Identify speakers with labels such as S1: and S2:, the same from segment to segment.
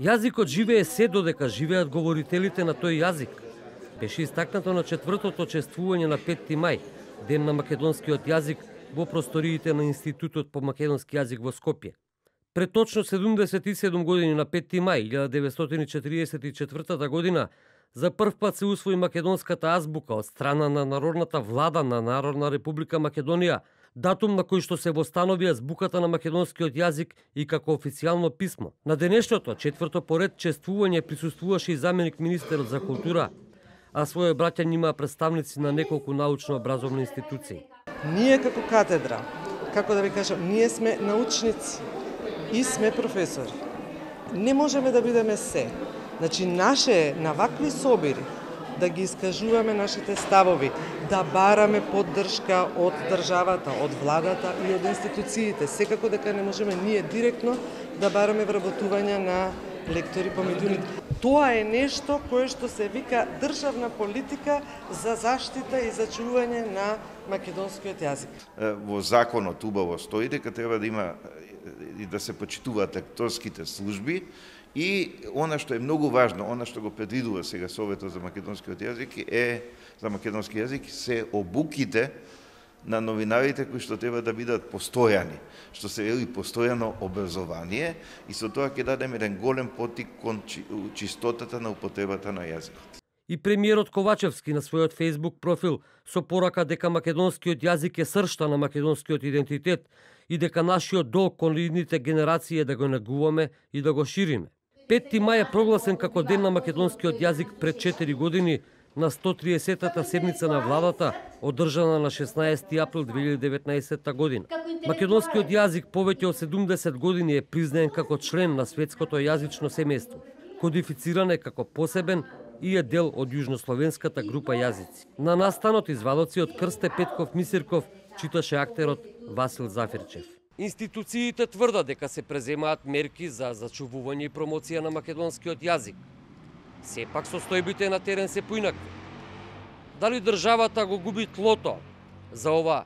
S1: Јазикот живее се додека живеат говорителите на тој јазик. Беше истакнато на 4-тото чествување на 5 мај, ден на македонскиот јазик, во просториите на Институтот по македонски јазик во Скопје. Пред точно 77 години на 5 мај 1944 година за прв пат се усвои македонската азбука од страна на Народната влада на Народна република Македонија, датум на кој што се востанови азбуката на македонскиот јазик и како официјално писмо. На денешното, 4-то поред чествување присуствуваше и заменик министерот за култура, а своје браќање имаа представници на неколку научно-образовни институции.
S2: Ние како катедра, како да ви кажам, ние сме научници и сме професори. Не можеме да бидеме се. Значи, наше на вакви собири да ги искажуваме нашите ставови, да бараме поддршка од државата, од владата и од институциите. Секако дека не можеме ние директно да бараме вработување на лектори по медиумите. Тоа е нешто кое што се вика државна политика за заштита и зачување на македонскиот јазик.
S3: Во законот убаво стои дека треба да има и да се почитуваат лекторските служби и она што е многу важно, она што го предвидува сега Советот за македонскиот јазик за македонски јазик се обуките на новинарите кои што треба да бидат постојани, што се вели постојано образование и со тоа ќе дадеме еден голем поттик кон чистотата на употребата на јазикот.
S1: И премиерот Ковачевски на својот Facebook профил со порака дека македонскиот јазик е сршта на македонскиот идентитет и дека нашиот долг кон идните генерации е да го негуваме и да го шириме. 5 мај е прогласен како ден на македонскиот јазик пред 4 години на 130-та седница на владата, одржана на 16 април 2019 година. Македонскиот јазик повеќе од 70 години е признаен како член на светското јазично семејство. Кодифициран е како посебен и е дел од јужнословенската група јазици. На настанот извадоци од Крсте Петков Мисирков читаше актерот Васил Зафирчев. Институциите тврдат дека се преземаат мерки за зачувување и промоција на македонскиот јазик. Сепак состојбите на терен се поинакви. Дали државата го губи тлото за ова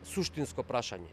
S1: суштинско прашање?